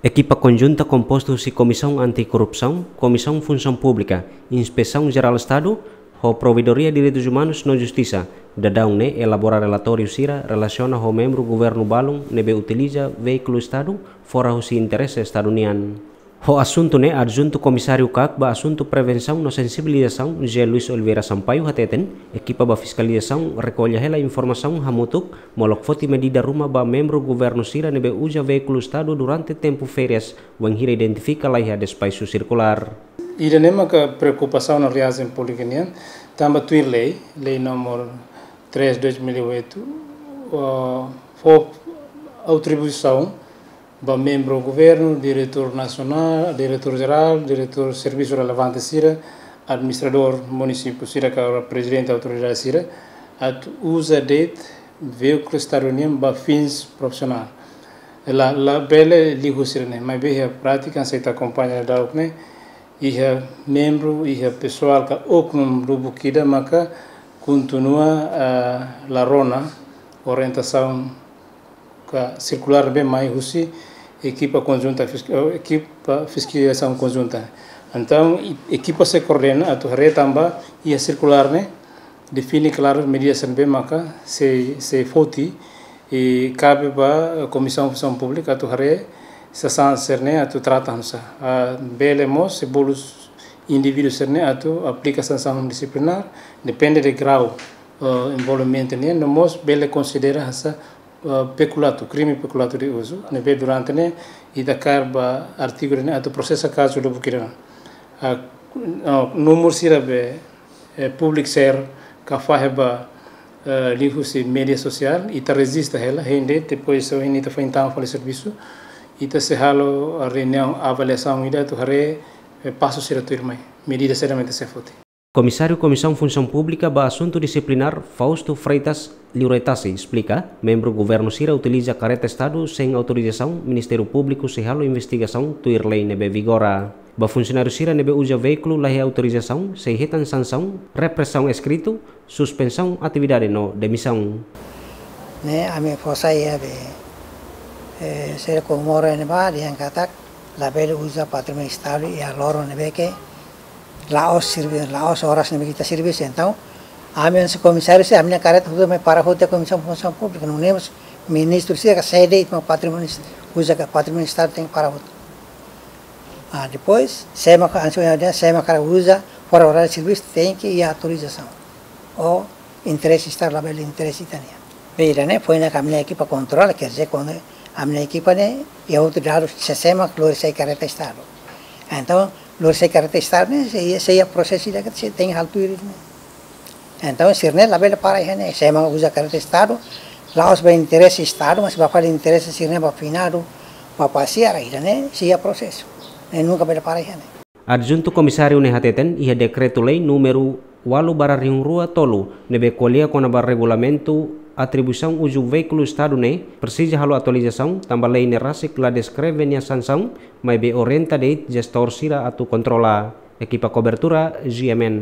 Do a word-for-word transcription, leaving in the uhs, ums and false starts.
Ekipa konjunta kompostu husi Komisaun Anti-Korrupsaun, Komisaun Funsaun Públika, Inspesaun Jerál Estadu, ho Provedoria Direitus Umanus no Justisa, daudaun ne'e elabora relatóriu sira relasiona ho membru governu balun ne'ebé utiliza veíkulu Estadu fora husi interese Estadu nian. Ho asuntu ne'e, Adjuntu Komisáriu kak ba Asuntu Prevensaun no Sensibilizasaun, José Luis Oliveira Sampaio, hateten, ekipa ba fiskalizasaun rekolla hela informasaun hamutuk, molok foti medida ruma ba membru governu sira ne'ebé uza veíkulu Estadu durante tempu férias, wainhira identifika laiha despaxu sirkulár. Ida-ne'e maka preokupasaun no reasaun públiku nian, tanba tuir lei, lei númeru três dois mil e oito, ah, fó atribuisaun ba membru governu, diretór nasionál, diretór jerál, diretór servisu relevante sira, administradór munisípiu sira ka prezidente autoridade sira, atu uza de'it veíkulu Estadu nian ba fins profisionál. La, labele liu husi ne'e, maibé iha prátika, se ita akompaña daudaun ne'e, iha membru, iha pesoál ka oknum lubuk ida maka kontinua, ah, la rona orientasaun ka sirkulár ne'ebé mai husi ekipa konjunta fisk-, eh, ekipa fiskalizasaun konjunta. Entaun, e-, ekipa sei koordena atu haree tanba iha sirkulár ne'e define klaru medida sira ne'ebé maka sei, sei foti, i kabe ba, eh, Komisaun Funsaun Públika atu haree sansaun sira-ne'e atu trata hanesan. Ah, bele mós, se bolu indivíduu sira-ne'e atu aplika sansaun disiplinár, depende de grau, eh, envolvimentu nian, no mós bele konsidera hanesan, eh, pekulato, krime pekulato de uso, ne'ebé durante ne'e ita kaer ba artigu ne'e atu prosesa kazu lubuk ida. Ah, no, númeru sira be, eh, public share ka fahe ba, eh, liuhusi média sosiál, ita rejista hela, hein de'it, depois, se hein ita foin tama fali servisu, ita sei halo, ah, reuniaun avaliasaun ida atu haree, eh, pasu sira tuirmai, medida sira mak ita sei foti. Komisáriu Komisaun Funsaun Públika ba Asuntu Disiplinár, Fausto Freitas Liuretasi, esplika, membru governu sira utiliza kareta Estadu sein autorizasaun, Ministériu Públiku sei halo investigasaun tuir lei ne'ebé vigora. Ba funsionáriu sira ne'ebé uza veíkulu laiha autorizasaun, sei hetan sansaun, represaun eskritu, suspensaun atividade no demisaun. Ne'e, ami fó sai iha be, eh, sira komoro ne'ebá, dehan katak labele uza patrimóniu Estadu iha loron ne'ebé ke la'ós servi-, la'ós oras ne'ebé ke ita servisu. Entaun, ami hanesan komisáriu sira, ami-nia kareta hotu mai para hotu iha Komisaun Funsaun Públika, nune'e mós ministru sira ka sé de'it mak patrimóniu, uza ka patrimóniu Estadu tenke para hotu. Ah, depois, sé mak hanesan ohin dehan, sé mak hakarak uza fora oráriu servisu tenke iha autorizasaun. Ou interese Estadu, labele interese ita-nian. Be ida-ne'e foin ami-nia ekipa kontrola, quer dizer, kuandu ami-nia ekipa ne'e iha hotu dadus sé, sé mak lori sai kareta Estadu. Entaun, lori sai kareta Estadu ne'e, sei, sei iha prosesu ida ke sei tenke halo tuir ne'e. Entaun, sira-ne'e labele para iha ne'e, sé mak uza kareta Estadu, la'ós ba interese Estadu, mas ba fali interese sira-ne'e ba finadu, ba pasiar, ida-ne'e sei iha prosesu. Ne'e nunka bele para iha ne'e. Adjuntu Komisáriu ne'e hateten, iha dekretu-lei númeru ualu barra rihun rua tolu, ne'ebé ko'alia kona-ba regulamentu atribuisaun uzu veíkulu Estadu ne'e, presiza halo atualizasaun, tanba lei ne'e rasik la deskreve nia sansaun, maibé orienta de'it jestór sira atu kontrola. Ekipa kobertura, G M N.